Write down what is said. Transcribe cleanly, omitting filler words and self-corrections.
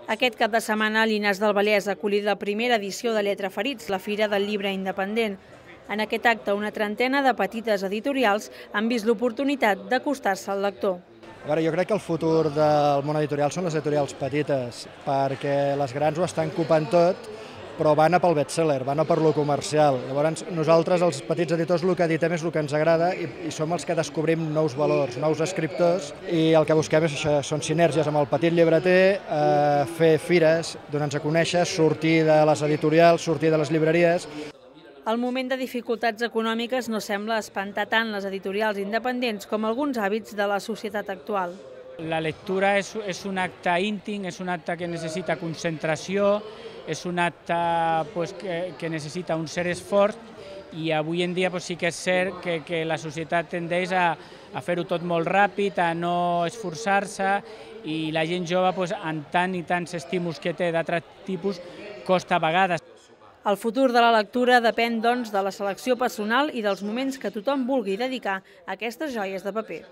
Aquest cap de setmana, a Llinars del Vallès ha acollit la primera edició de Lletra Ferits, la Fira del Llibre Independent. En aquest acte, una trentena de petites editorials han vist l'oportunitat d'acostar-se al lector. Jo crec que el futur del món editorial són les editorials petites, perquè les grans ho estan copant tot, però van a pel bestseller, van a per lo comercial. Llavors, nosaltres, els petits editors, el que editem és el que ens agrada i som els que descobrim nous valors, nous escriptors, i el que busquem és això, són sinergies amb el petit llibreter, fer fires, donar-nos a conèixer, sortir de les editorials, sortir de les llibreries. El moment de dificultats econòmiques no sembla espantar tant les editorials independents com alguns hàbits de la societat actual. La lectura és un acte íntim, és un acte que necessita concentració, és un acte que necessita un cert esforç i avui en dia sí que és cert que la societat tendeix a fer-ho tot molt ràpid, a no esforçar-se i la gent jove, amb tant i tants estímuls que té d'altres tipus, costa a vegades. El futur de la lectura depèn, doncs, de la selecció personal i dels moments que tothom vulgui dedicar a aquestes joies de paper.